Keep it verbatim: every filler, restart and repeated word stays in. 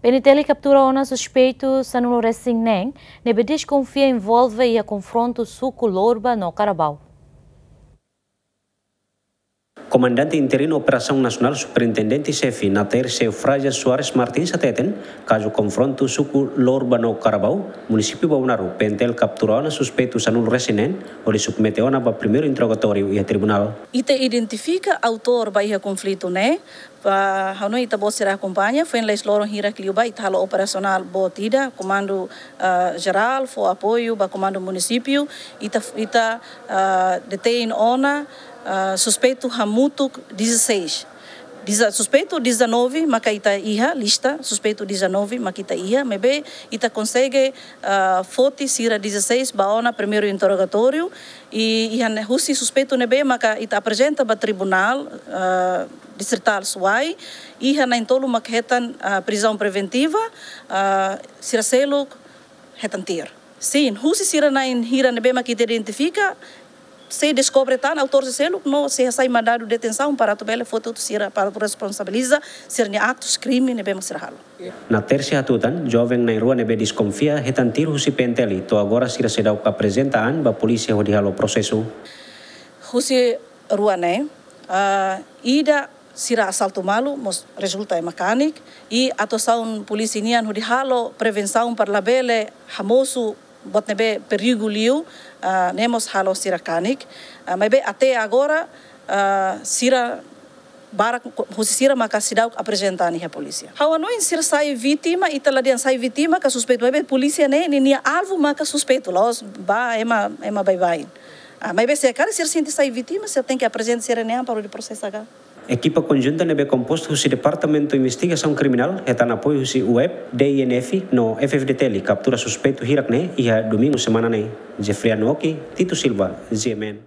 PNTL kaptura ona suspeitu sanulu-resin-neen ne'ebé deskonfia envolve iha konfrontu suku Lorba no Carabao. Komandante Interinu Operasaun Nasionál, Superintendente Xefe, Naterce Eufrásia Soares Martins hateten, kazu konfrontu suku Lorba no Carabao, munisípiu Baunaru, PNTL kaptura ona suspeitu sanulu-resin-neen, hodi submete ona ba primeiru interrogatóriu iha tribunál. Ita identifika autór ba iha konflitu ne'e, ba hanoin ita-boot sira akompaña, foin loron hirak liubá ita halo operasionál boot ida, komandu, ah, jerál, fó apoiu ba komandu munisípiu, ita, ita, ah, detein ona, ah, suspeitu hamutuk dezasseis. Diza-, suspeitu dezanove maka ita iha, lista suspeitu dezanove maka ita iha, maibé ita konsege, ah, foti sira dezasseis ba ona primeiru interrogatóriu, i iha ne'e husi suspeitu ne'ebé maka ita aprezenta ba tribunál, ah, distritál Suai, iha na'in-tolu maka hetan, ah, prizaun preventiva, ah, sira seluk hetan tiru. Sin, husi sira na'in hira ne'ebé maka ita identifika, sei deskobre tan autór sira seluk no sei hasai mandadu detensaun para atu bele foti hotu sira para atu responsabiliza sira-nia aktus krime ne'ebé maka sira halo. Naterce hatutan, joven na'in-rua ne'ebé deskonfia hetan tiru husi PNTL, to'o agora sira seidauk aprezenta an ba polísia hodi halo prosesu. Husi rua ne'e, ah, ida sira asaltu malu, mós rezulta ema kanek, i atuasaun polísia nian hodi halo prevensaun para labele hamosu buat ne'ebé perigu liu, ah, ne'e mós halo sira kanek. Ah, maibé até agora, ah, sira barak husi sira maka seidauk aprezenta an iha polísia. Ha'u hanoin sira sai vítima, ita la dehan sai vítima ka suspeitu, maibé polísia ne'e, ninia alvu maka suspeitu, la'ós ba ema, ema baibain. Ah, maibé se karik sira sente sai vítima, sira tenke aprezenta sira-nia an para hodi prosesa ka. Ekipa konjunta ne'ebé kompostu husi Departamentu Investigasaun Kriminál, hetan apoiu husi UEP, DINF, no F-FDTL, kaptura suspeitu hirak ne'e iha domingu semana ne'e. Jeffrey Anuoki, Tito Silva, GMN.